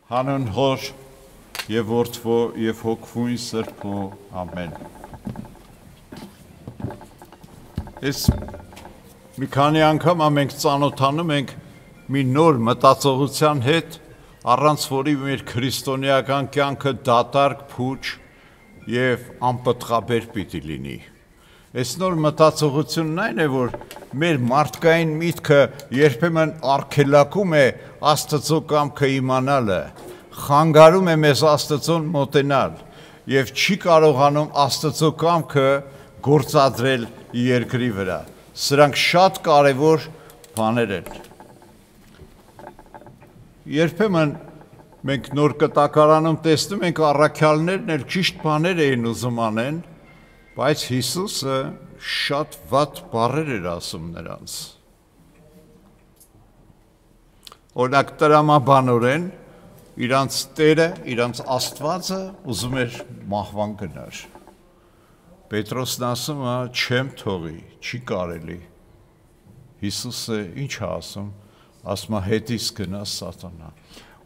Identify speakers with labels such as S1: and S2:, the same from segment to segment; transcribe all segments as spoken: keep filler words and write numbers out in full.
S1: Հանուն Հոր և Որդվո և Հոգվույն Սրբո, ամեն։ Ես մի քանի անգամ մենք ծանոթանում ենք մի նոր մտածողության հետ, առանց որի մեր քրիստոնեական կյանքը դատարկ, փուչ և անպտղաբեր պիտի լինի։ Այս նոր մտածողությունն այն է, որ մեր մարդկային միտքը երբեմն արգելակում է Աստծո կամքը իմանալը, խանգարում է մեզ Աստծուն մոտենալ և չի կարողանում Աստծո կամքը գործադրել երկրի վրա։ Սրանք շատ կարևոր բաներ են։ Երբեմն մենք նոր կտակարանում տեսնում ենք առաքյալներն էլ ճիշտ բաներ էին ուզում անեն, բայց Հիսուսը շատ վատ բառեր էր ասում նրանց։ Օրինակ տրամաբանորեն իրանց Տերը, իրանց Աստվածը ուզում էր մահվան գնար։ Պետրոսն ասում է, չեմ թողի, չի կարելի։ Հիսուսը ինչ է ասում, ասում է հետիս գնա սատանա։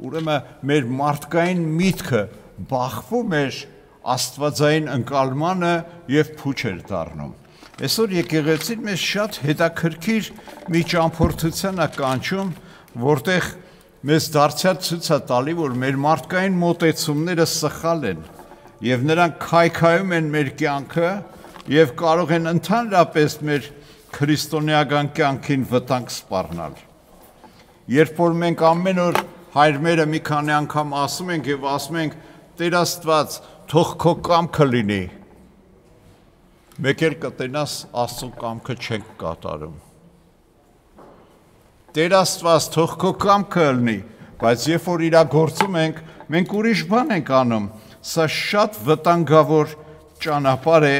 S1: Ուրեմն մեր մարդկային միտքը բախվում էր Աստվածային ընկալմանը և փուչ էր դառնում։ Այսօր եկեղեցին մեզ շատ հետաքրքիր մի ճամփորդության է կանչում, որտեղ մեզ դարձյալ ցույց է տալի, որ մեր մարդկային մոտեցումները սխալ են և նրանք քայքայում են մեր կյանքը և կարող են ընդհանրապես մեր քրիստոնեական կյանքին վտանգ սպառնալ։ Երբ որ մենք ամեն օր հայրմերը մի քանի անգամ ասում ենք և ասում ենք Տեր Աստված, թող քո կամքը լինի, մեկ էլ կտենաս Աստծո կամքը չենք կատարում։ Տեր Աստված, թող քո կամքը լինի, բայց երբ որ իրագործում ենք, մենք ուրիշ բան ենք անում։ Սա շատ վտանգավոր ճանապարհ է,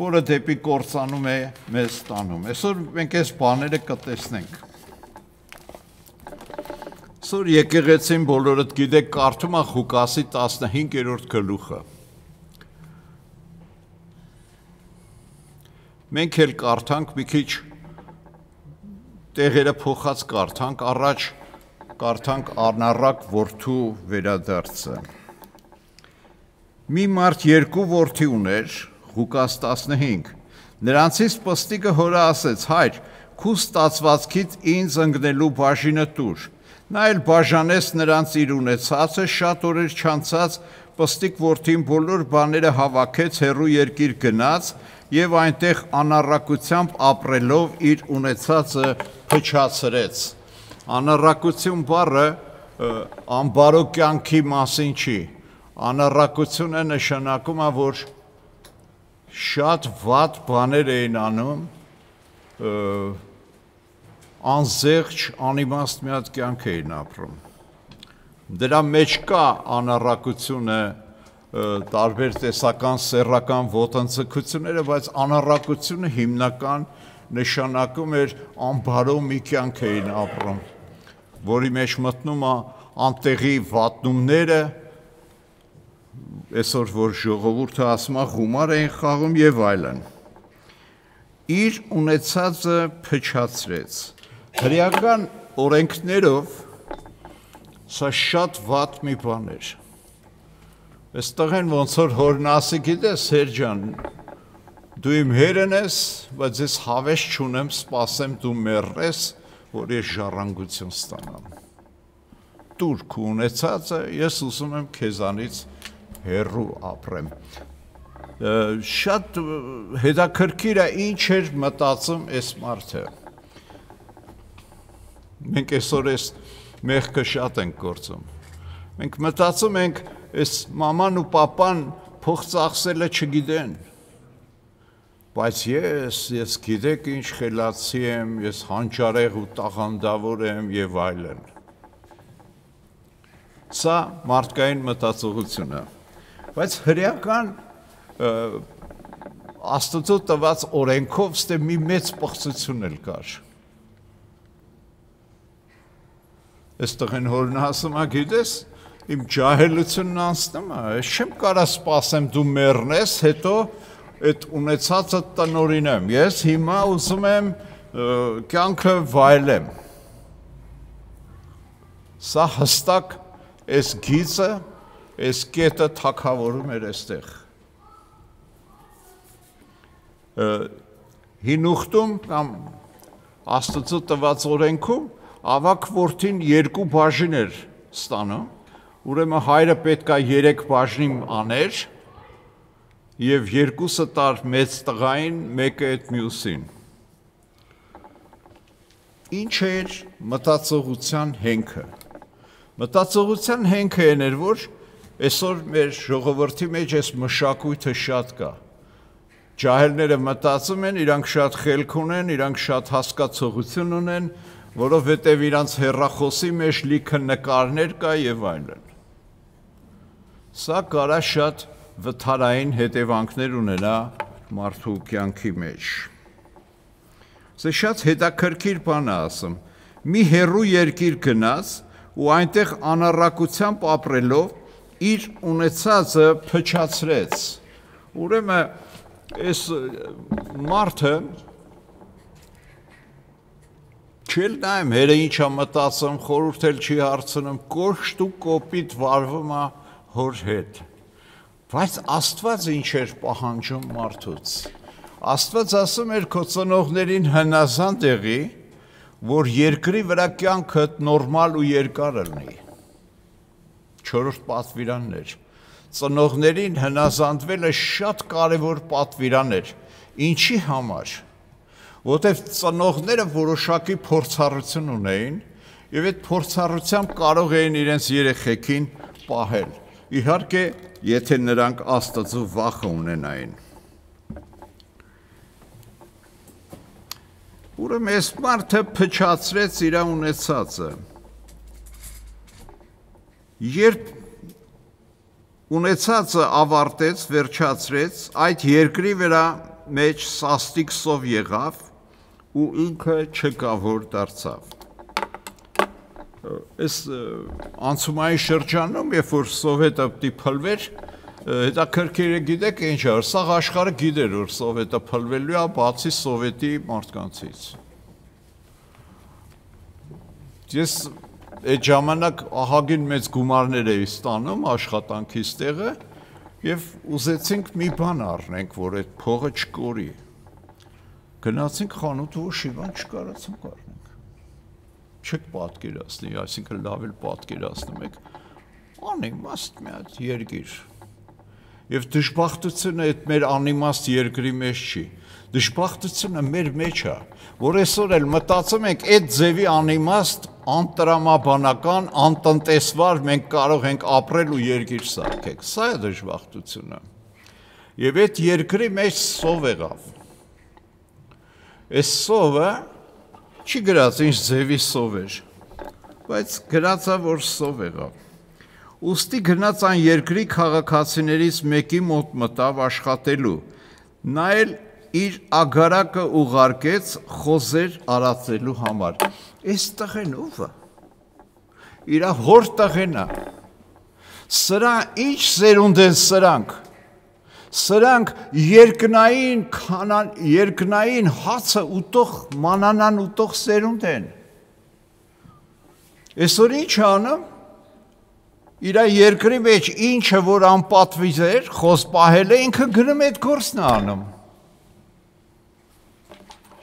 S1: որը դեպի կործանում է մեզ տանում։ Այսօր մենք այս բաները կտեսնենք։ Այսօր եկեղեցին բոլորդ գիտեք կարդում է Ղուկասի տասնհինգերորդ գլուխը։ Մենք էլ կարդանք մի քիչ տեղերը փոխած կարդանք, առաջ կարդանք անառակ որդու վերադարձը։ Մի մարդ երկու որդի ուներ, Ղուկաս տասնհինգ, նրանցից պստիկը հորը ասեց, հայր, քու ստացվածքից ինձ ընկնելու բաժինը տուր։ Նա էլ բաժանեց նրանց իր ունեցածը, շատ օրեր չանցած պստիկ որդին բոլոր բաները հավաքեց, հեռու երկիր գնաց և այնտեղ անառակությամբ ապրելով իր ունեցածը փչացրեց։ Անառակություն բառը անբարո կյանքի մասին չի։ Անառակությունը նշանակում է, որ շատ վատ բաներ էին անում, անզեղչ, անիմաստ մի հատ կյանք էին ապրում։ Դրա մեջ կա անառակությունը, տարբեր տեսական սեռական ոտնձգությունները, բայց անառակությունը հիմնական նշանակում էր անբարո մի կյանք էին ապրում, որի մեջ մտնում է անտեղի վատնումները, այսօր որ ժողովուրդը ասում է գումար էին խաղում և այլն։ Իր ունեցածը փչացրեց։ Հրեական օրենքներով սա շատ վատ մի բան էր։ Այստեղ են ոնց որ հորն ասի, գիտես հեր ջան, դու իմ հերն ես, բայց ես հավես չունեմ, սպասեմ դու մեռես, որ ես ժառանգություն ստանամ։ Տուր քո ունեցածը, ես ուզում եմ քեզանից հեռու ապրեմ։ Շատ հետաքրքիր է ինչ էր մտածում այս մարդը։ Մենք այսօր այս մեղքը շատ ենք գործում։ Մենք մտածում ենք, այս մաման ու պապան փող ծախսելը չգիտեն, բայց ես, ես գիտեք ինչ խելացի եմ, ես հանճարեղ ու տաղանդավոր եմ և այլն։ Սա մարդկային մտածողություն է, բայց հրեական Աստծո տված օրենքով ստե մի մեծ պղծություն էլ կար։ Այստեղ են հորն ասում է, գիտես, իմ ջահելությունն անցնում է, ես չեմ կարա սպասեմ դու մեռնես, հետո այդ ունեցածը տնօրինեմ, ես հիմա ուզում եմ կյանքը վայելեմ։ Սա հստակ այս գիծը, այս կետը թագավորում էր այստեղ։ Հին ուխտում կամ Աստծո տված օրենքում ավագ որդին երկու բաժին էր ստանում, ուրեմն հայրը պետք է երեք բաժին աներ եւ երկուսը տար մեծ տղային, մեկը այդ մյուսին։ Ինչ էր մտածողության հենքը։ Մտածողության հենքը էր, որ այսօր մեր ժողովրդի մեջ այս մշակույթը շատ կա։ Ջահելները մտածում են, իրանք շատ խելք ունեն, իրանք շատ հասկացողություն ունեն, որովհետև իրանց հեռախոսի մեջ լիքը նկարներ կա եւ այլն։ Սա կարա շատ վթարային հետևանքներ ունենա մարդու կյանքի մեջ։ Սա շատ հետաքրքիր բան է ասում։ Մի հեռու երկիր գնաց ու այնտեղ անառակությամբ ապրելով իր ունեցածը փչացրեց։ Ուրեմն այս մարդը չել նայում հերը ինչա մտածում, խորհուրդ էլ չի հարցնում, կոշտ ու կոպիտ վարվում է հոր հետ։ Բայց Աստված ինչ էր պահանջում մարդուց։ Աստված ասում էր քո ծնողներին հնազանդ եղի, որ երկրի վրա կյանքդ նորմալ ու երկար լինի։ Չորրորդ պատվիրանն էր։ Ծնողներին հնազանդվելը շատ կարևոր պատվիրան էր։ Ինչի համար։ Որտեվ ծնողները որոշակի փորձառություն ունեին եւ այդ փորձառությամբ կարող էին իրենց երեխեքին պահել։ Իհարկե, եթե նրանք Աստծո վախը ունենային։ Ուրեմն այս մարդը փչացրեց իր ունեցածը։ Երբ ունեցածը ավարտեց, վերջացրեց, այդ երկրի վրա մեջ սաստիկ սով եղավ ու ինքը չկավոր դարձավ։ Այս անցումային շրջանում, երբ որ սովետը պիտի փլվեր, հետաքրքիր է գիտեք ինչ էր, սա աշխարհը գիտեր, որ սովետը փլվելու է, բացի սովետի մարդկանցից։ Ես այդ ժամանակ ահագին մեծ գումարներ էի ստանում աշխատանքից տեղը եւ ուզեցինք մի բան առնենք, որ այդ փողը չկորի։ Գնացինք խանութ ու շիվան չկարացանք առնենք։ Չեք պատկերացնի, այսինքն լավ էլ պատկերացնում եք։ Անիմաստ մի հատ երկիր։ Եվ դժբախտությունը այդ մեր անիմաստ երկրի մեջ չի։ Դժբախտությունը մեր մեջ է, որ այսօր էլ մտածում ենք այդ ձևի անիմաստ, անտրամաբանական, անտնտեսվար մենք կարող ենք ապրել ու երկիր սարքել։ Սա է դժբախտությունը։ Եվ այդ երկրի մեջ սով եղավ։ Այս սովը չի գրած ինչ ձևի սով էր, բայց գրած է, որ սով եղավ։ Ուստի գնաց այն երկրի քաղաքացիներից մեկի մոտ մտավ աշխատելու, նա էլ իր ագարակը ուղարկեց խոզեր արածելու համար։ Այս տղեն ով է։ Իր հոր տղեն է։ Սրա ինչ սերունդ են սրանք։ Սրանք երկնային քանան երկնային հացը ուտող մանանան ուտող սերունդ են։ Այսօր ինչ անում։ Իր երկրի մեջ ինչը որ անպատվի էր, խոզ պահել է, ինքը գնում այդ գործն է անում։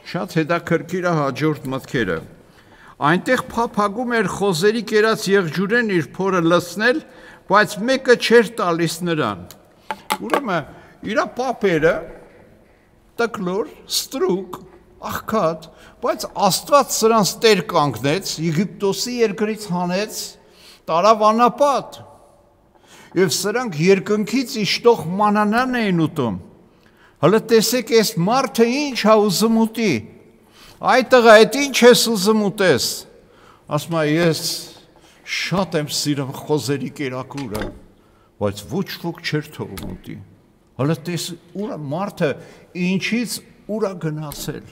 S1: Շատ հետաքրքիր է հաջորդ մտքերը։ Այնտեղ փափագում էր խոզերի կերած եղջյուրեն իր փորը լցնել, բայց մեկը չէր տալիս նրան։ Ուրեմն իր պապերը տկլոր, ստրուկ, աղքատ, բայց Աստված սրանց տեր կանգնեց, Եգիպտոսի երկրից հանեց, տարավ անապատ, և սրանք երկնքից իշտող մանանան էին ուտում, հլը տեսեք ես մարդը ինչ հա ուզում ուտի, այդ տղա այդ ինչ ես ուզում ուտես, ասում է ես շատ եմ սիրում խոզերի կերակուրը, բայց ոչ ոք չէր թողում ուտի, հլը տեսեք ուրա մարդը ինչից ուրա գնացել,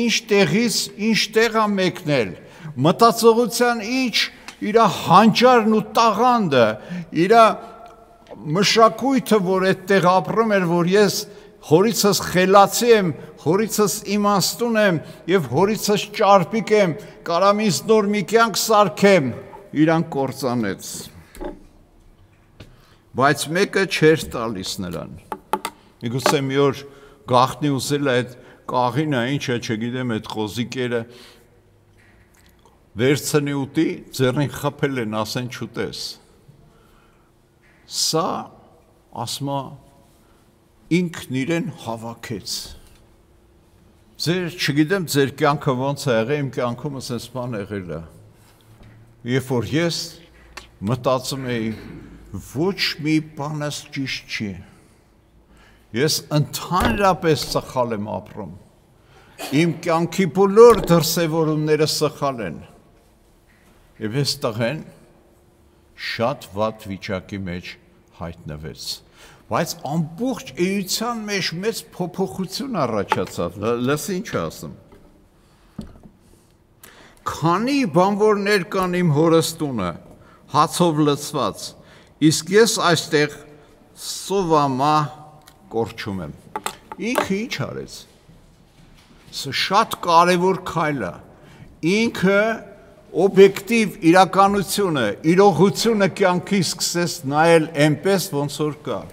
S1: ինչ տեղից ինչ տեղ է մեկնել, մտածողության ինչ իր հանճարն ու տաղանդը, իր մշակույթը, որ այդտեղ ապրում էր, որ ես հորիցս խելացի եմ, հորիցս իմաստուն եմ և հորիցս ճարպիկ եմ, կարամ ինձ նոր մի կյանք սարքեմ, իրան կործանեց, բայց մեկը չէր տալիս նրան, միգուցե մի օր գաղտնի ուզել այդ կաղինը, ինչը չգիտեմ, այդ խոզիկերը վերցնի ուտի, ձեռին խփել են, ասեն չուտես, սա ասմա ինքն իրեն հավաքեց, ձեր, չգիտեմ, ձեր կյանքը ոնց է եղել, իմ կյանքումս այս բան եղել է, երբ որ ես մտածում էի, ոչ մի բանս ճիշտ չի, ես ընդհանրապես սխալ եմ ապրում, իմ կյանքի բոլոր դրսևորումները սխալ են, և ես տղեն շատ վատ վիճակի մեջ հայտնվեց, բայց ամբողջ էության մեջ մեծ փոփոխություն առաջացավ, լսի ինչ ասում, քանի բանվորներ կան իմ հորս տունը, հացով լցված, իսկ ես այստեղ սովամա կորչում եմ, ինքը ինչ արեց, սա շատ կարևոր քայլ է, ինքը օբյեկտիվ իրականությունը, իրողությունը կյանքի սկսեց նայել այնպես, ոնց որ կա,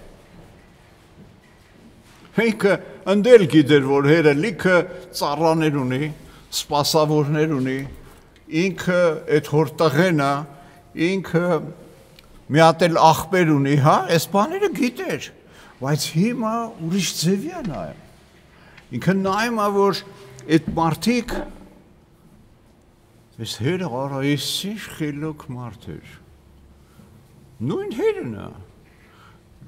S1: ինքը ընդել գիտեր, որ հերը լիքը ծառաներ ունի, սպասավորներ ունի, ինքը այդ հոր տղենա, ինքը մի հատ էլ աղբեր ունի, հա, այս բաները գիտեր, բայց հիմա ուրիշ ձևի է նայում, ինքը նայում է, որ այդ մարդիկ, այս հերը արա, այս ինչ խելոք մարդ էր, նույն հերն է,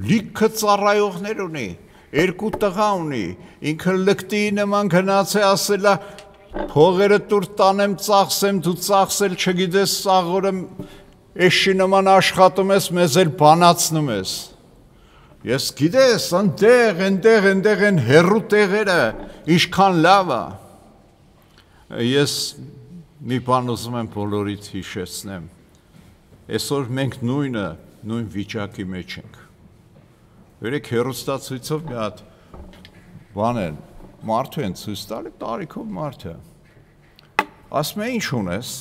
S1: լիքը ծառայողներ ունի, երկու տղա ունի, ինքը լկտի նման գնաց է ասելա, փողերը տուր տանեմ ծախսեմ, դու ծախսել չգիտես սաղորը էշի նման աշխատում ես, մեզ էլ բանացնում ես, ես գիտես, ընդեղ, ընդեղ, ընդեղ են հեռու տեղերը, ինչքան լավ է, ես մի բան ուզում եմ բոլորից հիշեցնեմ, այսօր մենք նույնը, նույն վիճակի մեջ ենք, Երեք հեռուստացույցով մի հատ բան են, մարդու են ցույց տալի, տարիքով մարդը, ասում է ինչ ունես,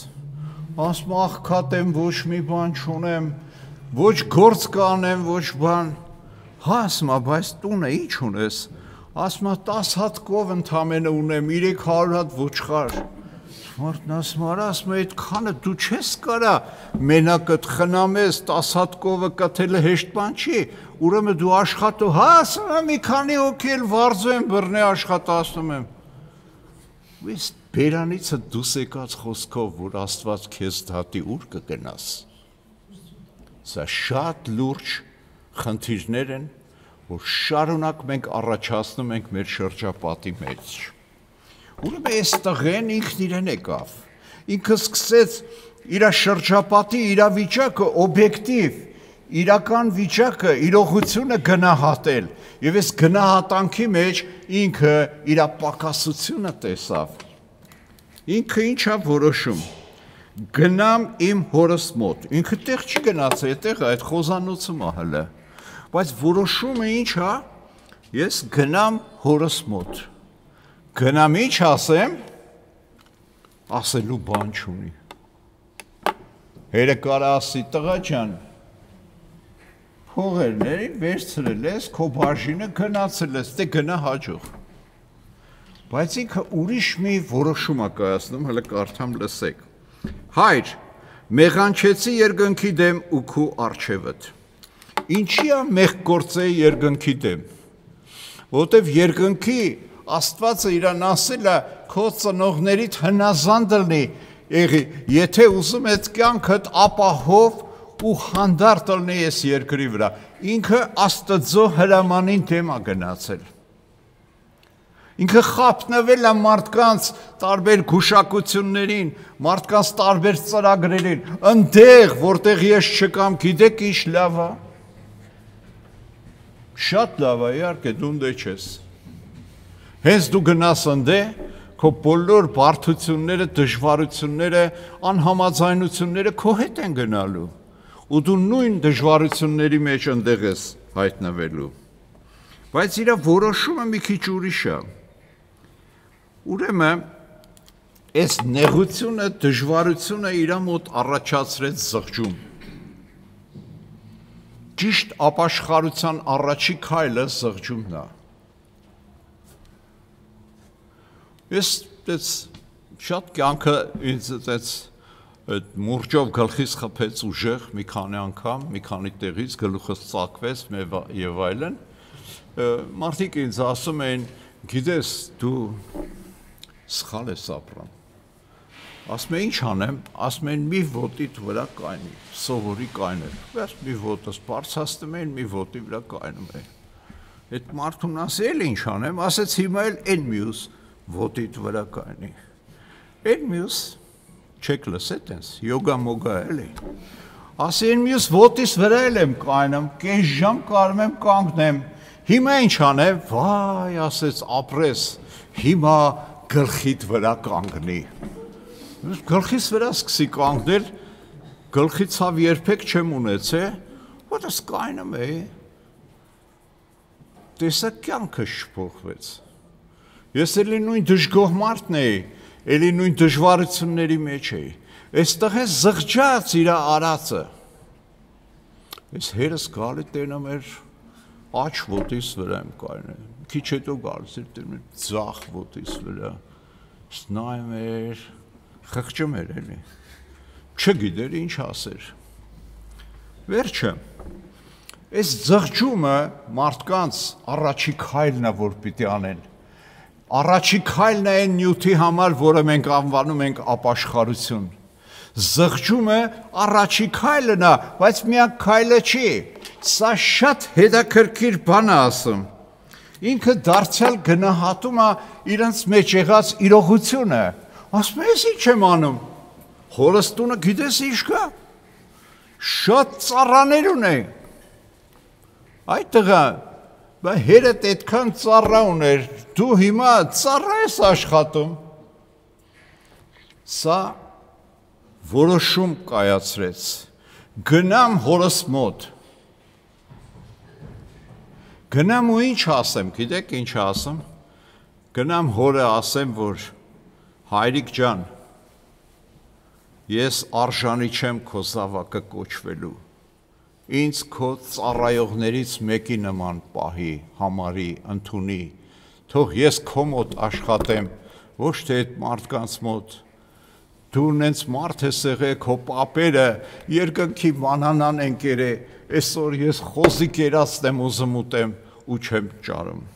S1: ասում աղքատ եմ, ոչ մի բան չունեմ, ոչ գործ կանեմ, ոչ բան, հա ասում է, բայց տունը ինչ ունես, ասում է տաս հատ կով ընդամենը ունեմ, երեք հարյուր հատ ոչխար, մարդն ասում արա, ասում է այդ քանը դու չես կարա մենակդ խնամես, տաս հատ կովը կթելը հեշտ բան չի, ուրեմն դու աշխատու, հա ասում եմ մի քանի հոգի էլ վարձու եմ բռնե աշխատացնում եմ, ես բերանիցը դուս եկած խոսքով, որ Աստված քեզ դատի ուր կգնաս, սա շատ լուրջ խնդիրներ են, որ շարունակ մենք առաջացնում ենք մեր շրջապատի մեջ, ուրեմն այս տղեն ինքն իրեն եկավ, ինքը սկսեց իր շրջապատի իրավիճակը օբյեկտիվ, իրական վիճակը, իրողությունը գնահատել, և այս գնահատանքի մեջ ինքը իր պակասությունը տեսավ, ինքը ինչ է որոշում, գնամ իմ հորս մոտ, ինքը տեղ չի գնաց, այդտեղ այդ խոզանոցում է հələ, բայց որոշումը ինչ է, ես գնամ հորս մոտ, գնամ ինչ ասեմ, ասելու բան չունի, հերը կարա ասի տղա ջան, փողերների վերցրել ես, քո բաժինը գնացել ես, դե գնա հաջող, բայց ինքը ուրիշ մի որոշում է կայացնում, հələ կարդամ լսեք, հայր, մեղանչեցի երկնքի դեմ ու քու առջևդ, ինչի է մեղք գործեի երկնքի դեմ, որտև երկնքի Աստվածը իրան ասել է, քո ծնողներիդ հնազանդ լինի, եղի, եթե ուզում ես կյանքդ ապահով ու հանդարտ լինի այս երկրի վրա, ինքը Աստծո հրամանին դեմ է գնացել, ինքը խաբնվել է մարդկանց տարբեր գուշակություններին, մարդկանց տարբեր ծրագրերին, ընդեղ, որտեղ ես չկամ, գիտեք ինչ լավ է, շատ լավ է, իհարկե, դու ընդե չես, հենց դու գնաս ընդե, քո բոլոր բարդությունները, դժվարությունները, անհամաձայնությունները քո հետ են գնալու, ու դու նույն դժվարությունների մեջ ընդեղ ես հայտնվելու, բայց իր որոշումը մի քիչ ուրիշ է, ուրեմն այս նեղությունը, դժվարությունը իր մոտ առաջացրեց զղջում։ Ճիշտ ապաշխարության առաջի քայլը զղջումն է։ Ես դες շատ կյանքը ինձ դες այդ մուրճով գլխից խփեց ուժեղ մի քանի անգամ, մի քանի տեղից գլուխս ծակվեց եւ այլն։ Մարդիկ ինձ ասում են, գիտես, դու սխալ ես ապրում։ Ասում են, ինչ անեմ, ասում են մի ոտիդ վրա կայնի, սովորի կայնել։ Բայց մի ոտս բարձրացնում են, մի ոտի վրա կայնում է։ Այդ մարդուն ասել ինչ անեմ, ասեց հիմա էլ այն մյուս ոտիդ վրա կայնի։ Այն մյուս չեք լսել տես, յոգա մոգա էլի։ Ասի այն մյուս ոտիս վրա էլ եմ կայնում, կես ժամ կարում եմ կանգնեմ։ Հիմա ինչ անեմ, վայ, ասեց ապրես, հիմա գլխիդ վրա կանգնի։ Գլխից վրա սկսի կանգնել, գլխի ցավ երբեք չեմ ունեցել, որտես կայնում է։ Տեսա կյանքը շփոթվեց։ Ես էլի նույն դժգոհ մարդն էի, էլի նույն դժվարությունների մեջ էի։ Այստեղ է զղջաց իր արածը։ Ես հերս գալի տենամ էր աչ ոտիս վրա եմ կայնում։ Քիչ հետո գալիս էր տենամ ձախ ոտիս վրա։ Նայում էր, խղճում էր էլի։ Չգիտեր ինչ ասեր։ Վերջը, այս զղջումը մարդկանց առաջի քայլն է, որ պիտի անեն։ Առաջի քայլն է այն նյութի համար, որը մենք անվանում ենք ապաշխարություն։ Զղջումը առաջի քայլն է, բայց միակ քայլը չի։ Սա շատ հետաքրքիր բան է ասում։ Ինքը դարձյալ գնահատում է իրենց մեջ եղած իրողությունը։ Ասում ես ինչ եմ անում։ Հորս տունը գիտես ինչ կա։ Շատ ծառաներ ունի։ Այդ տղա, բա հերդ այդքան ծառա ուներ, դու հիմա ծառա ես աշխատում։ Սա որոշում կայացրեց։ Գնամ հորս մոտ։ Գնամ ու ինչ ասեմ, գիտեք ինչ ասեմ։ Գնամ հորը ասեմ, որ հայրիկ ջան, ես արժանի չեմ քո զավակը կոչվելու, ինձ քո ծառայողներից մեկի նման պահի, համարի, ընդունի, թող ես քո մոտ աշխատեմ, ոչ թե այդ մարդկանց մոտ, դու նենց մարդ ես եղել, քո պապերը երկնքի մանանան են կերել, այսօր ես խոզի կերածն եմ ուզում ուտեմ ու չեմ ճարում։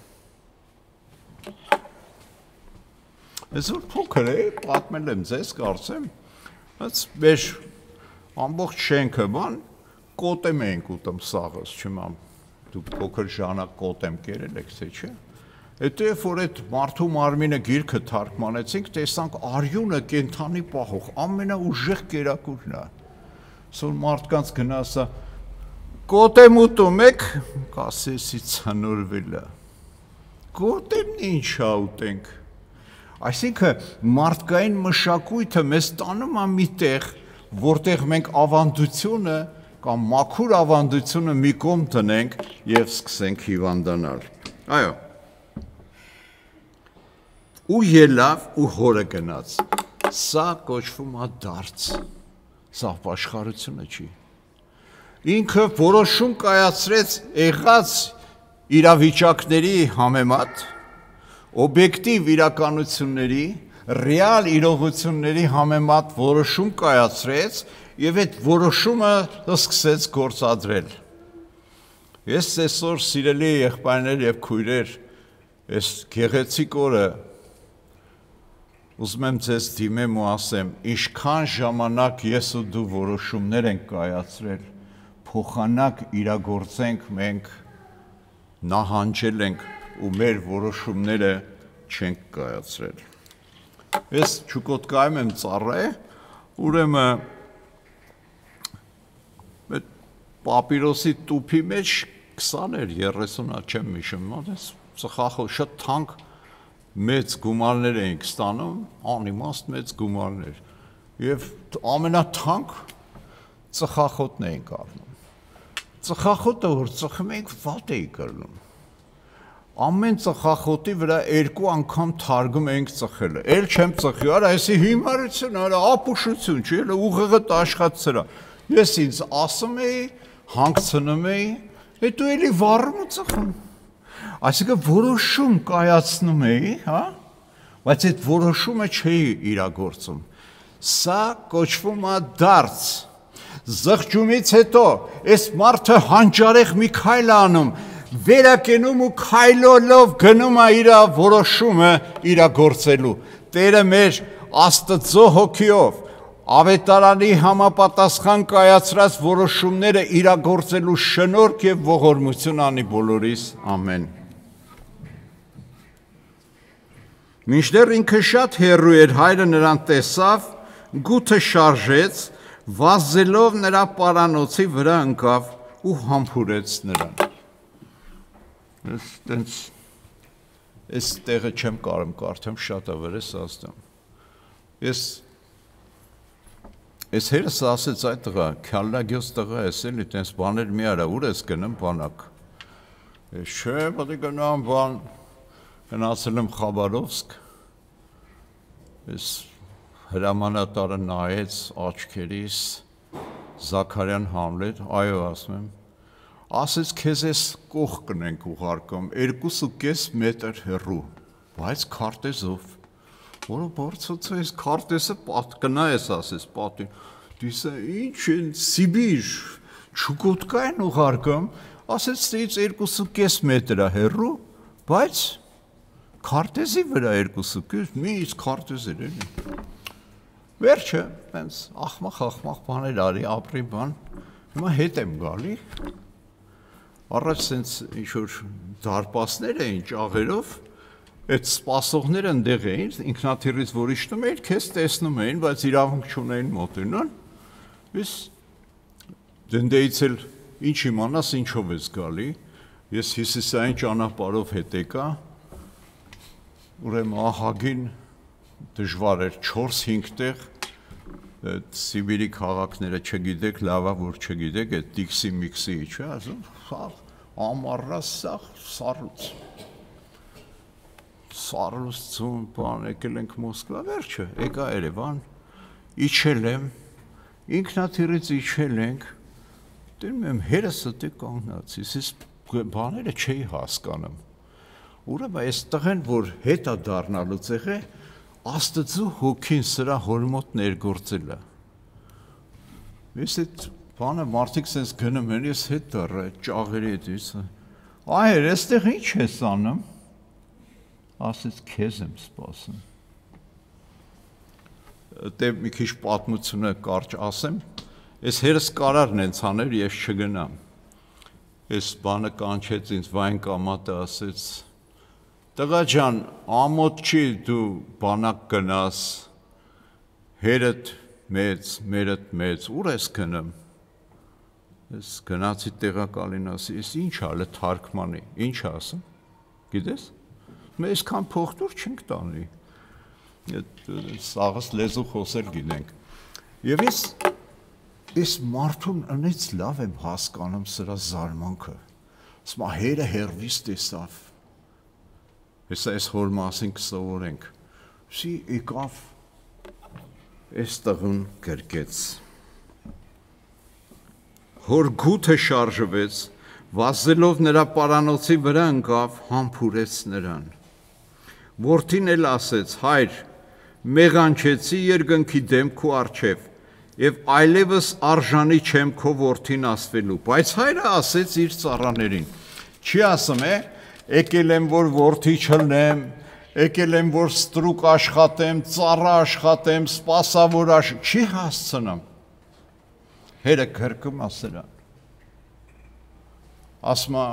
S1: Այսօր փոքր է, պատմել եմ ձեզ, կարծեմ, բայց մեր ամբողջ շենքը բան, կոտեմ էինք ուտում սաղս, չիմամ, դուք փոքր ժամանակ կոտեմ կերել եք, թե չէ։ Հետո երբ որ այդ մարդու մարմինը գիրքը թարգմանեցինք, տեսանք արյունը կենդանի պահող, ամենաուժեղ կերակուրն է։ Սոր մարդկանց գնասա, կոտեմ ուտում եք, կասեսի ցնորվել է։ Կոտեմն ինչ ա ուտենք։ Այսինքն մարդկային մշակույթը մեզ տանում է մի տեղ, որտեղ մենք ավանդությունը կամ մաքուր ավանդությունը մի կողմ դնենք եւ սկսենք հիվանդանալ։ Այո։ Ու ելավ ու հորը գնաց։ Սա կոչվում է դարձ։ Սա ապաշխարությունը չի։ Ինքը որոշում կայացրեց եղած իրավիճակների համեմատ, օբյեկտիվ իրականությունների, ռեալ իրողությունների համեմատ որոշում կայացրեց եւ այդ որոշումը սկսեց գործադրել։ Ես այսօր սիրելի եղբայրներ եւ քույրեր, այս գեղեցիկ օրը ուզում եմ ձեզ դիմեմ ու ասեմ, ինչքան ժամանակ ես ու դու որոշումներ ենք կայացրել, փոխանակ իրագործենք մենք նահանջել ենք ու մեր որոշումները չենք կայացրել։ Ես Չուկոտկայում եմ ծառայ, ուրեմն այդ պապիրոսի տուփի մեջ քսաներ երեսունա չեմ հիշում, այս ծխախոտ շատ թանկ մեծ գումարներ էինք ստանում, անիմաստ մեծ գումարներ եւ ամենաթանկ ծխախոտն էինք առնում։ Ծխախոտը որ ծխում էինք վատ էի կրնում։ ամեն ծխախոտի վրա երկու անգամ թարգում ենք ծխելը։ Էլ չեմ ծխի, արա, այսի հիմարություն, արա, ապուշություն, չի, էլ ուղեղը աշխատցրա։ Ես ինձ ասում էի, հանգցնում էի, հետո էլի վառում ու ծխում։ Այսինքն որոշում կայացնում էի, հա, բայց այդ որոշումը չէի իրագործում։ Սա կոչվում է դարձ։ Զղջումից հետո այս մարդը հանճարեղ մի քայլ անում, վերակենում ու քայլելով գնում է իր որոշումը իրագործելու։ Տերը մեր Աստծո հոգիով ավետարանի համապատասխան կայացրած որոշումները իրագործելու շնորհք եւ ողորմություն անի բոլորիս, ամեն։ Մինչդեռ ինքը շատ հեռու էր, հայրը նրան տեսավ, գութը շարժեց, վազելով նրա պարանոցի վրա ընկավ ու համբուրեց նրան։ Ես տենց, ես տեղը չեմ կարում կարդամ, շատ ավեր ես ասում։ Ես, ես հերս ասեց այդ տղա, քյալլագյոս տղա ես էլի, տենց բաներ մի արա, ուր ես գնում բանակ։ Ես չէ, պատի գնամ բան, գնացել եմ Խաբարովսկ, ես հրամանատարը նայեց աչքերիս, Զաքարյան Համլետ, այո ասում եմ, ասեց քեզ ես կող կնենք ուղարկում, երկուս ու կես մետր հեռու, բայց քարտեզով, որը բարձոցը ես քարտեզը կնա ես ասես պատին, դիսը ինչ են Սիբիր, Չուկոտկա են ուղարկում, ասեց ստեից երկուս ու կես մետրը հեռու, բայց քարտեզի վրա երկուս ու կես, մի իսկ քարտեզ էր էլի։ Վերջը, պենց ախմախ-ախմախ բաներ արի, ապրի բան, հիմա հետ եմ գալի, առաջ սենց ինչ-որ դարպասներ էին ճաղերով, այդ սպասողները ընդեղ էին, ինքնաթիռից որ իջնում էին, քեզ տեսնում էին, բայց իրավունք չունեին մոտենան, ես դնդեից էլ ինչ իմանաս ինչով ես գալի, ես հյուսիսային ճանապարհով հետ եկա, ուրեմն ահագին դժվար էր չորս-հինգ տեղ, Սիբիրի քաղաքները չգիտեք, լավա որ չգիտեք, այդ դիքսի միքսի չէ, ասում, ամառա սաղ սառուց, սառուց ծուն, բան, եկել ենք Մոսկվա, վերջը, եկա Երևան, իջել եմ, ինքնաթիռից իջել ենք, դնում եմ հերս ստե կանգնած, ես բաները չէի հասկանում, ուրեմն այս տղեն, որ հետա դառնալուց եղե, Աստծո հոգին սրա հորմոտ ներգործել է։ Ես այդ բանը մարդիկ սենց գնում են, ես հետ դառա, ճաղերի հետ ես, այր, այստեղ ինչ ես անում, ասեց քեզ եմ սպասում։ Դե մի քիչ պատմությունը կարճ ասեմ, ես հերս կարարն են ցաներ, ես չգնամ։ Ես բանը կանչեց ինձ վայն կամատը ասեց, տղա ջան, ամոթ չի դու բանակ գնաս, հերդ մեծ, մերդ մեծ, ուր ես գնում, ես գնացի տեղակալին ասի, ես ինչ ալը թարգմանի, ինչ ասում, գիտես, մեզ կան փողտուր չենք տանի, սաղս լեզու խոսել գինենք, և ես, ես մարդուն ընեց լավ եմ հասկանում սրա զարմանքը, սմա հերը հերվիս տեսավ, Հեսա այս հոր մասին կսովորենք, սի եկավ, այս տղուն գրկեց, հոր գութը շարժվեց, վազելով նրա պարանոցի վրա ընկավ, համբուրեց նրան, որդին էլ ասեց, հայր, մեղանչեցի երկնքի դեմ քո առջև, և այլևս արժանի չեմ քո որդին ասվելու, բայց հայրը ասեց իր ծառաներին, չի ասում է, եկել եմ, որ որդի չլնեմ, եկել եմ, որ ստրուկ աշխատեմ, ծառա աշխատեմ, սպասավոր աշխատեմ, չի հասցնեմ, հերը գրկում ասելան, ասմա,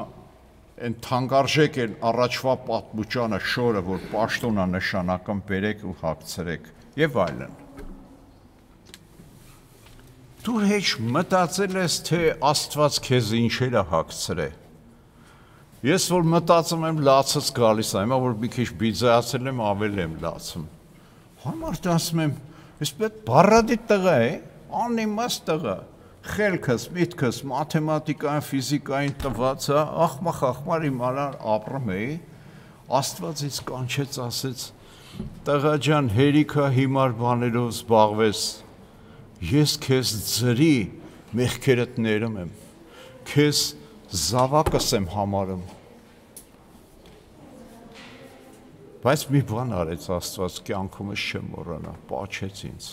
S1: են թանգարժեք են առաջվա պատմուճանը շորը, որ պաշտոնա նշանակում բերեք ու հագցրեք, և այլն։ Դու հեչ մտածել ես, թե Աստված քեզ ինչեր է հագցրել, Ես որ մտածում եմ լացս գալիս եմ, որ մի քիչ բիձայացել եմ, ավել եմ լացում։ Համարդ ասում եմ, ես պետ բարադի տղա է, անիմաստ տղա, խելքս, միտքս, մաթեմատիկային, ֆիզիկային տված է, ախմախ ախմար իմանալ ապրում էի, Աստվածից կանչեց, ասեց. «Տղա ջան, հերիքա հիմար բաներով զբաղվես, ես քեզ ձրի մեղքերդ ներում եմ, քեզ զավակս եմ համարում»։ Բայց մի բան արեց Աստված, կյանքումս չեմ մոռանա, պաչեց ինձ։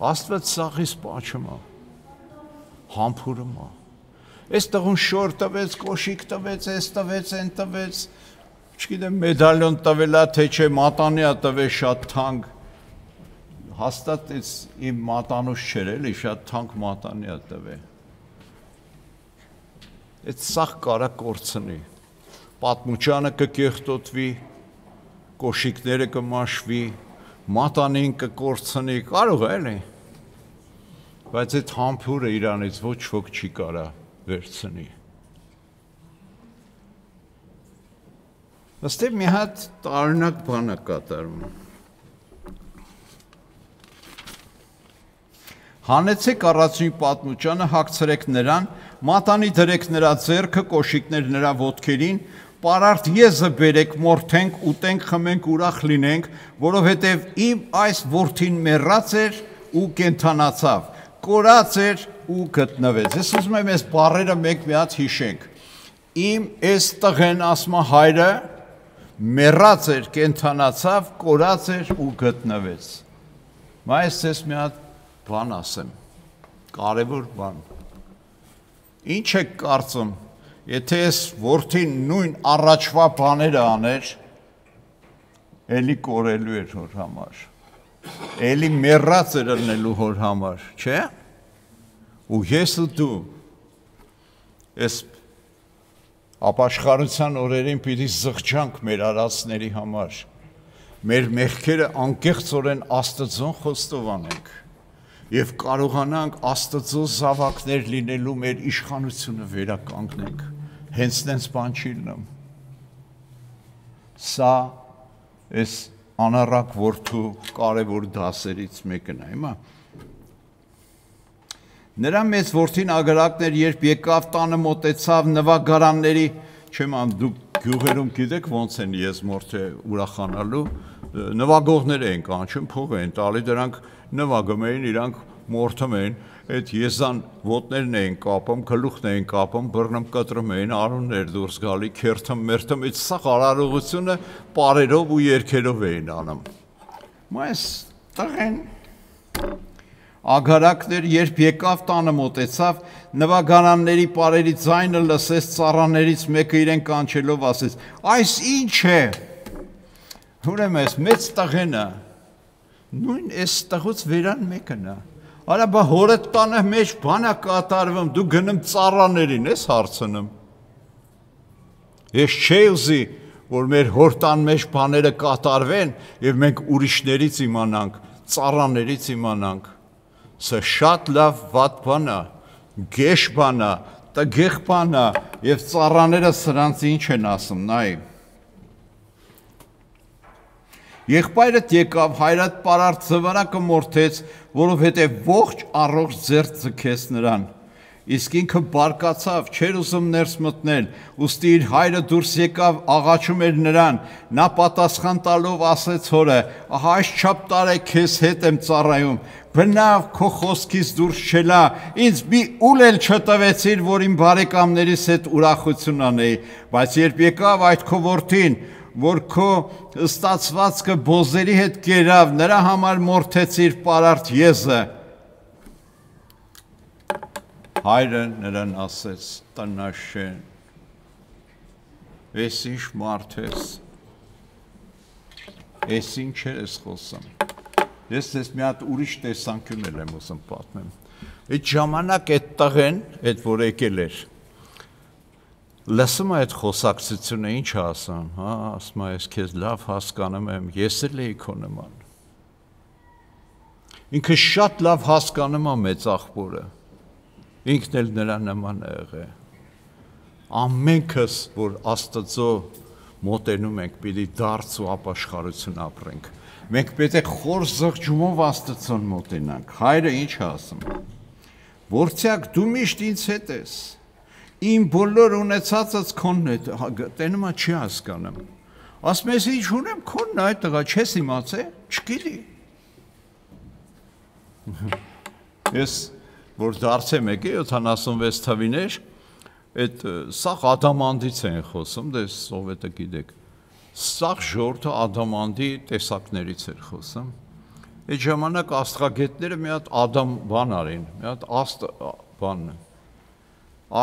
S1: Աստված սաղից պաչում է, համբուրում է։ Այս տղուն շոր տվեց, կոշիկ տվեց, այս տվեց, այն տվեց, չգիտեմ մեդալյոն տվելա, թե չէ մատանիա տվեց շատ թանկ, հաստատ այս իմ մատանուս չէր էլի, շատ թանկ մատանիա տվե։ Այդ սաղ կարա կորցնի, պատմուճանը կկեղտոտվի, կոշիկները կմաշվի, մատանին կկորցնի, կարող է էլի, բայց այդ համբուրը իրանից ոչ ոք չի կարա վերցնի։ Աստեղ մի հատ տարօրինակ բան է կատարում։ Հանեցեք առածնի պատմուճանը, հագցրեք նրան, մատանի դրեք նրա ձեռքը, կոշիկներ նրա ոտքերին, պարարտ եզը բերեք, մորթենք, ուտենք, խմենք, ուրախ լինենք, որովհետև իմ այս որդին մեռած էր ու կենդանացավ, կորած էր ու գտնվեց։ Ես ուզում եմ այս բառերը մեկ մի հատ հիշենք։ Իմ այս տղեն, ասում է հայրը, մեռած էր, կենդանացավ, կորած էր ու գտնվեց։ Բայց ես մի հատ բան ասեմ, կարևոր բան։ Ինչ եք կարծում, եթե ես որդին նույն առաջվա բաները աներ, էլի կորելու էր հոր համար, էլի մեռած էր ըլնելու հոր համար, չէ՞։ Ու ես ու դու այս ապաշխարության օրերին պիտի զղջանք մեր արածների համար, մեր մեղքերը անկեղծորեն Աստծուն խոստովանենք և կարողանանք Աստծո զավակներ լինելու մեր իշխանությունը վերականգնենք, հենց նենց բան չի լինում։ Սա այս անառակ որդու կարևոր դասերից մեկն է, հիմա։ Նրա մեծ որդին ագարակներ, երբ եկավ տանը մոտեցավ նվագարանների, չեմ ան դուք գյուղերում գիտեք ոնց են եզմորթե ուրախանալու, նվագողներ էին կանչում, փող էին տալի, դրանք նվագում էին, իրանք մորթում էին, այդ եզան ոտներն էին կապում, գլուխն էին կապում, բռնում կտրում էին, արուններ դուրս գալի, քերթում, մերթում, այդ սաղ արարողությունը պարերով ու երգերով էին անում։ Բայց տղեն ագարակներ, երբ եկավ տանը մոտեցավ, նվագարանների պարերի ձայնը լսեց, ծառաներից մեկը իրեն կանչելով ասեց. «Այս ինչ է»։ Ուրեմն այս մեծ տղենը, նույն այս տղուց վերան մեկն է։ Արա բա հորդ տանը մեջ բան է կատարվում, դու գնում ծառաներին ես հարցնում։ Ես չէի ուզի, որ մեր հոր տան մեջ բաները կատարվեն և մենք ուրիշներից իմանանք, ծառաներից իմանանք։ Սա շատ լավ վատ բան է, գեշ բան է, տգեղ բան է և ծառաները սրանց ինչ են ասում, նայ։ Եղբայրդ եկավ, հայրդ պարարտ զվարակը մորթեց, որովհետև ողջ առողջ ձեռք ձգեց նրան։ Իսկ ինքը բարկացավ, չէր ուզում ներս մտնել, ուստի իր հայրը դուրս եկավ, աղաչում էր նրան, նա պատասխան տալով ասեց հորը. «Ահա այսչափ տարի քեզ հետ եմ ծառայում, բնավ քո խոսքից դուրս չելա, ինձ մի ուլ էլ չտվեցիր, որ իմ բարեկամներիս հետ ուրախություն անեի, բայց երբ եկավ այդ քո որդին, որ քո ստացվածքը բոզերի հետ կերավ, նրա համար մորթեցիր պարարտ եզը»։ Հայրը նրան ասեց. «Տնաշեն, ես ինչ մարդ ես, ես ինչ ես խոսում»։ Ես ես մի հատ ուրիշ տեսանկյուն էլ եմ ուզում պատմեմ։ Այդ ժամանակ այդ տղեն, այդ որ եկել էր, լսում է այդ խոսակցությունը, ինչ է ասում, հա, ասում է, ես քեզ լավ հասկանում եմ, ես էլ էի քո նման։ Ինքը շատ լավ հասկանում է մեծ աղբորը, ինքն էլ նրա նման է եղել։ Ամենքս, որ Աստծո մոտենում ենք, պիտի դարձ ու ապաշխարություն ապրենք։ Մենք պետք է խոր զղջումով Աստծուն մոտենանք։ Հայրը ինչ է ասում։ Որդյակ, դու միշտ ինձ հետ ես։ Իմ բոլոր ունեցածս քոնն է, տենում է չի հասկանում։ ասում ես ինչ ունեմ քոնն այդ տղա չես իմացե չգիտի ես որ դարձեմ եկե յոթանասունվեց թվիներ այդ սա ադամանդից են խոսում դե սովետը գիտեք սա ժողովուրդը ադամանդի տեսակներից էր խոսում այդ ժամանակ աստղագետները մի հատ ադամ բան արին մի հատ աստ բան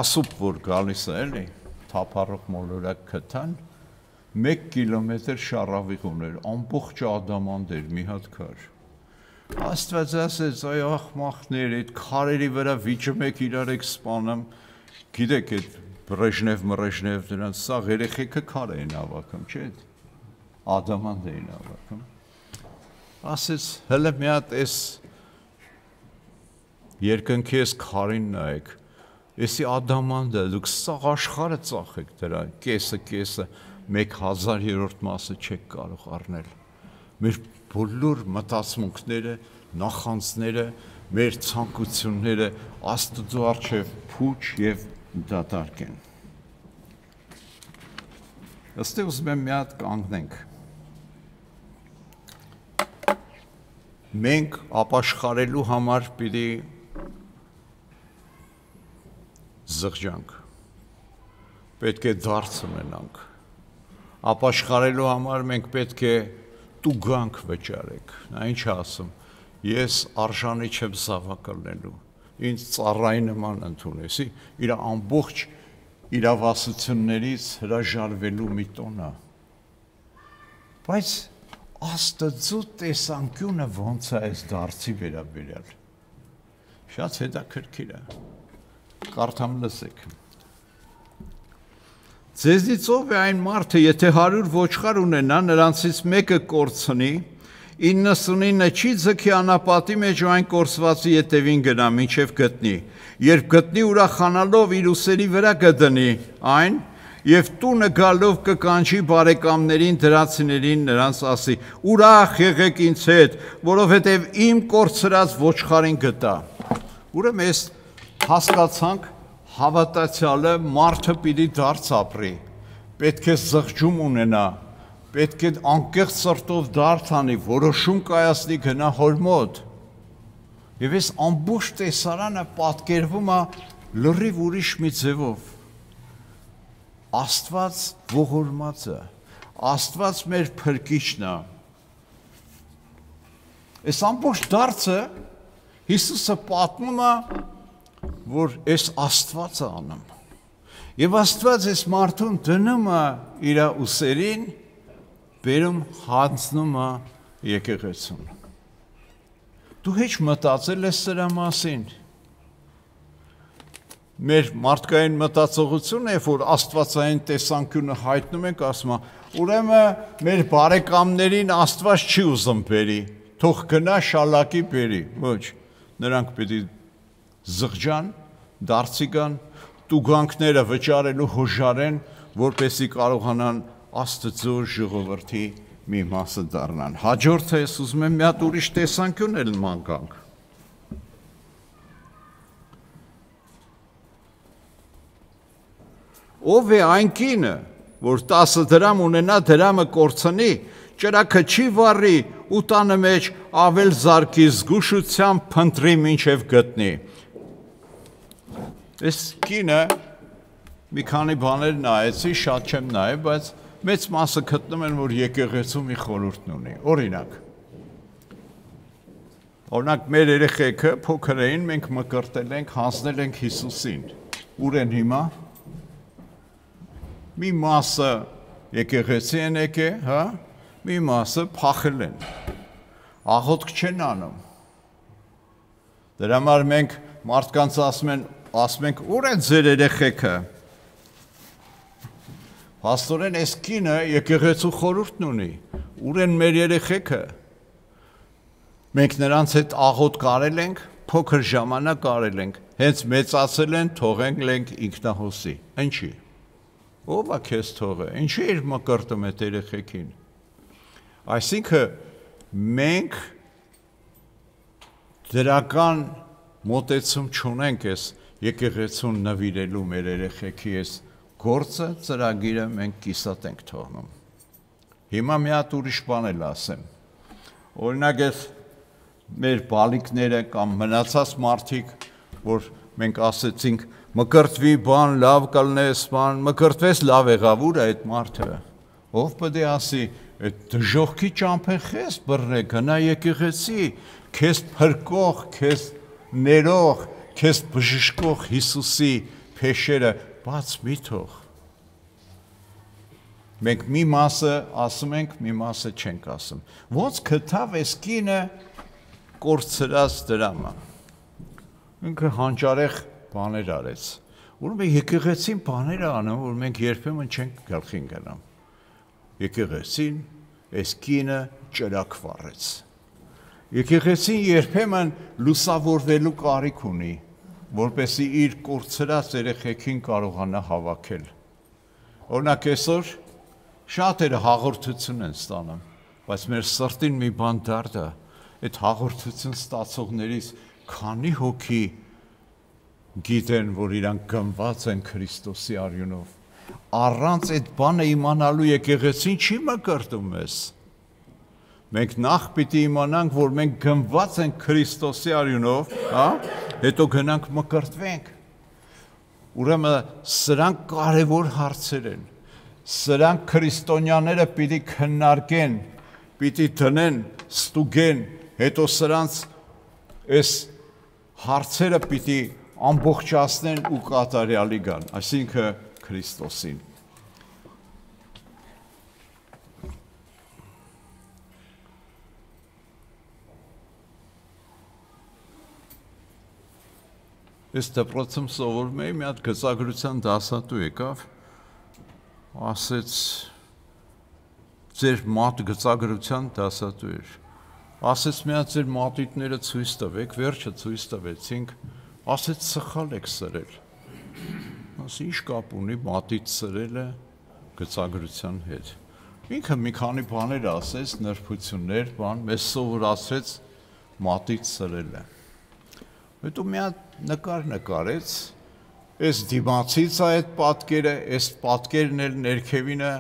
S1: ասուպ որ գալիս է էլի թափառող մոլորակ գտան մեկ կիլոմետր շարավիղ ուներ ամբողջ ադամանդ էր մի հատ քար Աստված ասեց այ ախմախներ այդ քարերի վրա վիճում եք իրար եք սպանում գիտեք այդ բրեժնև մրեժնև դրանց սա երեխեքը քար էին հավաքում չէ ադամանդ էին հավաքում ասեց հələ մի հատ էս երկնքի էս քարին նայեք Եսի ադամանդը դուք սա աշխարհը ծախեք դրա կեսը կեսը մեկ հազարերորդ մասը չեք կարող առնել մեր բոլոր մտածմունքները նախանձները մեր ցանկությունները Աստծո առջև փուչ եւ դատարկ են Ըստեղ ուզում եմ մի հատ կանգնենք մենք ապաշխարելու համար պիտի զղջանք, պետք է դարձ ունենանք, ապաշխարելու համար մենք պետք է տուգանք վճարեք, նա ինչ ասում, ես արժանի չեմ զավակալնելու, ինձ ծառայի նման ընդունեսի, իր ամբողջ իրավասություններից հրաժարվելու մի տոնա, բայց Աստծո տեսանկյունը ոնց է այս դարձի վերաբերյալ, շատ հետաքրքիր է Կարդամ լսեք Ձեզնից ով է այն մարդը, եթե հարյուր ոչխար ունենա, նրանցից մեկը կորցնի, իննսունինը չի ձգի անապատի մեջ ու այն կորսվածի ետևին գնա, մինչև գտնի, երբ գտնի ուրախանալով իր ուսերի վրա կդնի այն, և տունը գալով կկանչի բարեկամներին դրացիներին նրանց ասի, ուրախ եղեք ինձ հետ, որովհետև իմ կորցրած ոչխարին գտա։ Ուրեմն ես հասկացանք հավատացյալը մարդը պիտի դարձ ապրի, պետք է զղջում ունենա, պետք է անկեղծ սրտով դարձ անի, որոշում կայացնի գնա հոր մոտ։ Եվ ես ամբողջ տեսարանը պատկերվում է լրիվ ուրիշ մի ձևով։ Աստված ողորմածը, Աստված մեր փրկիչն է։ Այս ամբողջ դարձը Հիսուսը պատմում է, որ այս Աստվածը անում։ Եվ Աստված այս մարդուն դնում է իր ուսերին, բերում հանձնում է եկեղեցուն։ Դու հեչ մտածել ես սրա մասին։ Մեր մարդկային մտածողությունը, երբ որ աստվածային տեսանկյունը հայտնում ենք, ասում է, ուրեմն մեր բարեկամներին Աստված չի ուզում բերի, թող գնա շալակի բերի, ոչ, նրանք պիտի զղջան, դարձի գան, տուգանքները վճարելու հոժարեն, որպեսզի կարողանան Աստծո ժողովրդի մի մասը դառնան։ Հաջորդը ես ուզում եմ մի հատ ուրիշ տեսանկյուն էլ մանկանք։ Ով է այն կինը, որ տասը դրամ ունենա դրամը կորցնի, ճրակը չի վառի ու տանը մեջ ավել զարկի զգուշությամբ փնտրի մինչև գտնի։ Այս կինը մի քանի բաներ նայեցի, շատ չեմ նայել, բայց մեծ մասը գտնում են, որ եկեղեցու մի խորհուրդ ունի։ Օրինակ, օրինակ մեր երեխեքը փոքր էին, մենք մկրտել ենք, հանձնել ենք Հիսուսին։ Ուր են հիմա։ Մի մասը եկեղեցի են եկել, հա, մի մասը փախել են, աղոթք չեն անում։ Դրա համար մենք մարդկանց ասում են, ասում ենք, ուր են ձեր երեխեքը։ Փաստորեն այս կինը եկեղեցու խորհուրդն ունի, ուր են մեր երեխեքը։ Մենք նրանց հետ աղոթք արել ենք, փոքր ժամանակ արել ենք, հենց մեծացել են, թողենք ենք ինքնահոսի։ Ինչի։ Ով է քեզ թողը, ինչի էր մկրտում այդ երեխեքին։ Այսինքն մենք դրական մոտեցում չունենք այս եկեղեցուն նվիրելու մեր երեխեքի այս գործը, ծրագիրը մենք կիսատ ենք թողնում։ Հիմա մի հատ ուրիշ բան էլ ասեմ։ Օրինակ ես մեր բալիկները կամ մնացած մարդիկ, որ մենք ասեցինք մկրտվի բան, լավ կլնես բան, մկրտվես լավ եղավ, ուր է այդ մարդը։ Ով պետք է ասի, այդ դժոխքի ճամփեն խես բռնե, գնա եկեղեցի, քեզ փրկող, քեզ ներող, քեզ բժշկող Հիսուսի փեշերը բաց մի թող։ Մենք մի մասը ասում ենք, մի մասը չենք ասում։ Ոնց գտավ այս կինը կորցրած դրամը։ Ինքը հանճարեղ բաներ արեց։ Ուրեմն եկեղեցին բաներ անում, որ մենք երբեմն չենք գլխին գնում։ Եկեղեցին այս կինը ճրակ վառեց։ Եկեղեցին երբեմն լուսավորվելու կարիք ունի, որպեսզի իր կորցրած երեխեքին կարողանա հավաքել։ Օրինակ այսօր շատերը հաղորդություն են ստանում, բայց մեր սրտին մի բան դարձա, այդ հաղորդություն ստացողներից քանի հոգի գիտեն, որ իրանք գնված են Քրիստոսի արյունով։ Առանց այդ բանը իմանալու եկեղեցին չի մկրտում մեզ։ Մենք նախ պիտի իմանանք, որ մենք գնված ենք Քրիստոսի արյունով, հա, հետո գնանք մկրտվենք։ Ուրեմն սրանք կարևոր հարցեր են։ Սրանք քրիստոնյաները պիտի քննարկեն, պիտի դնեն, ստուգեն, հետո սրանց այս հարցերը պիտի ամբողջացնեն ու կատարյալի գան, այսինքն Քրիստոսին։ Ես դպրոցում սովորում էի, մի հատ գծագրության դասատու եկավ, ասեց ձեր մատ գծագրության դասատու էր, ասեց մի հատ ձեր մատիտները ցույց տվեք, վերջը ցույց տվեցինք, ասեց սխալ եք սրել, ասի ինչ կապ ունի մատիտ սրելը գծագրության հետ, ինքը մի քանի բաներ ասեց, նրբություններ, բան, մեզ սովորացրեց մատիտ սրելը, հետո մի հատ նկար նկարեց, այս դիմացից է այդ պատկերը, այս պատկերն էլ ներքևինը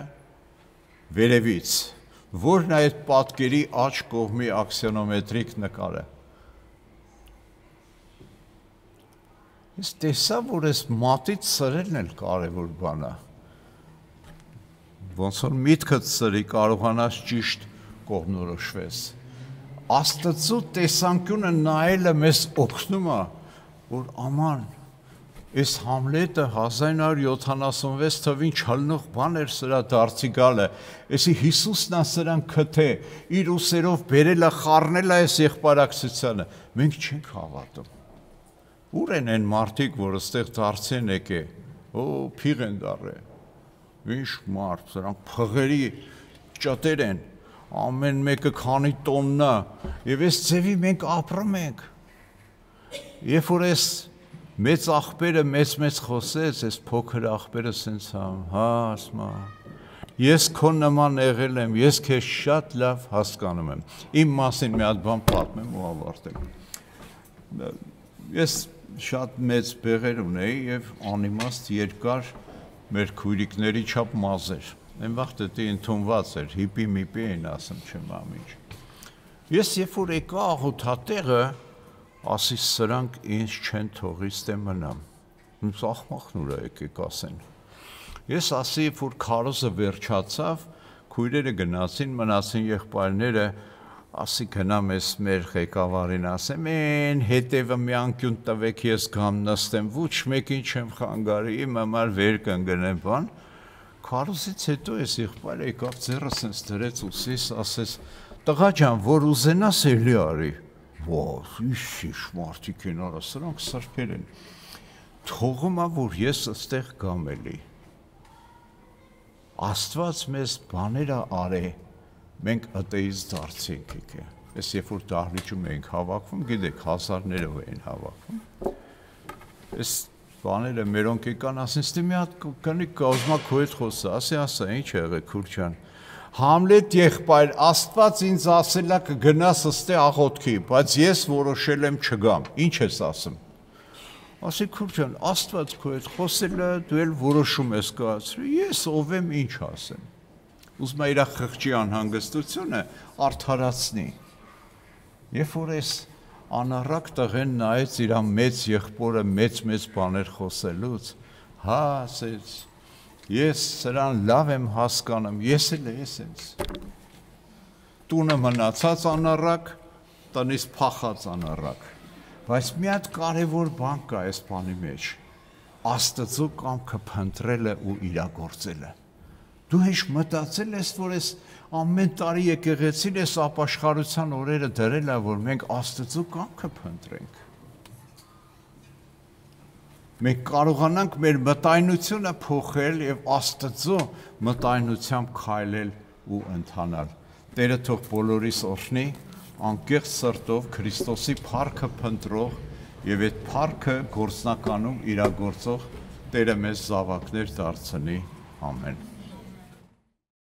S1: վերևից, որն է այդ պատկերի աջ կողմի աքսիոնոմետրիկ նկարը։ Ես տեսա, որ այս մատից սրելն էլ կարևոր բան է։ Ոնց որ միտքդ սրի կարողանաս ճիշտ կողմնորոշվես։ Աստծո տեսանկյունը նայելը մեզ օգնում է, որ աման Այս Համլետը հազար նոր յոթանասունվեց թվին չլնող բան էր սրա դարձի գալը, էսի Հիսուսն է սրան քթե, իր ուսերով բերել է, խառնել է այս եղբարակցությանը, մենք չենք հավատում։ Ուր են այն մարդիկ, որ այստեղ դարձի են եկե, օ, փիղ են դառե, ինչ մարդ, սրանք փղերի ճտեր են, ամեն մեկը քանի տոննա, եւ այս ձևի մենք ապրում ենք։ Երբ որ այս մեծ աղբերը մեծ-մեծ խոսեց, այս փոքր աղբերը սենց համ, հա, ասմա, ես քո նման եղել եմ, ես քեզ շատ լավ հասկանում եմ, իմ մասին մի հատ բան պատմեմ ու ավարտեմ։ Ես շատ մեծ բեղեր ունեի և անիմաստ երկար մեր քույրիկների չափ մազեր, այն վաղտ էտի ընդունված էր, հիպի միպի էին ասում չեմ ամիջ։ Ես երբ որ եկա աղոթատեղը, ասի սրանք ինձ չեն թողից դե մնամ, ինձ աղմախն ուրա եկեք ասեն։ Ես ասի, որ քարոզը վերջացավ, քույրերը գնացին, մնացին եղբայրները, ասի գնամ ես մեր ղեկավարին ասեմ, են հետևը մի անկյուն տվեք ես գամ նստեմ, ոչ մեկին չեմ խանգարի, իմ համար վեր կընկնեմ բան, քարոզից հետո ես եղբայրը եկավ ձեռը սենց դրեց ուսիս, ասես, տղա ջան, որ ուզենաս էլի արի, Ոս, ինչ մարդիկ են արա, սրանք սրբեր են, թողում է, որ ես ստեղ գամ էլի, Աստված մեզ բաները արե, մենք ըտեից դարձինք եկե, ես երբ որ դահլիճում էինք հավաքվում, գիտեք, հազարներով էին հավաքվում, ես բաները մերոնք եկան, ասին, ստի մի հատ կնի կազմա քո հետ խոսա, ասի ասա, ինչ եղե քուր ջան, Համլետ եղբայր, Աստված ինձ ասել է կգնաս ըստե աղոթքի, բայց ես որոշել եմ չգամ, ինչ ես ասում։ Ասի քուր ջան, Աստված քո հետ խոսել է, դու էլ որոշում ես կայացրել, ես ով եմ ինչ ասեմ։ ուզում է իր խղճի անհանգստությունը արդարացնի։ Երբ որ այս անառակ տղեն նայեց իր մեծ եղբորը մեծ-մեծ բաներ խոսելուց, հա, ասեց, ես սրան լավ եմ հասկանում, ես էլ ես ինձ։ Տունը մնացած անառակ, տնից փախած անառակ։ Բայց մի հատ կարևոր բան կա այս բանի մեջ։ Աստծո կամքը փնտրելը ու իրագործելը։ Դու հեչ մտածել ես, որ այս ամեն տարի եկեղեցին այս ապաշխարության օրերը դրել է, որ մենք Աստծո կամքը փնտրենք։ Մենք կարողանանք մեր մտայնությունը փոխել եւ Աստծո մտայնությամբ քայլել ու ընթանալ։ Տերը թող բոլորիս օրհնի, անկեղծ սրտով Քրիստոսի փառքը փնտրող եւ այդ փառքը գործնականում իրագործող Տերը մեզ զավակներ դարձնի։ Ամեն։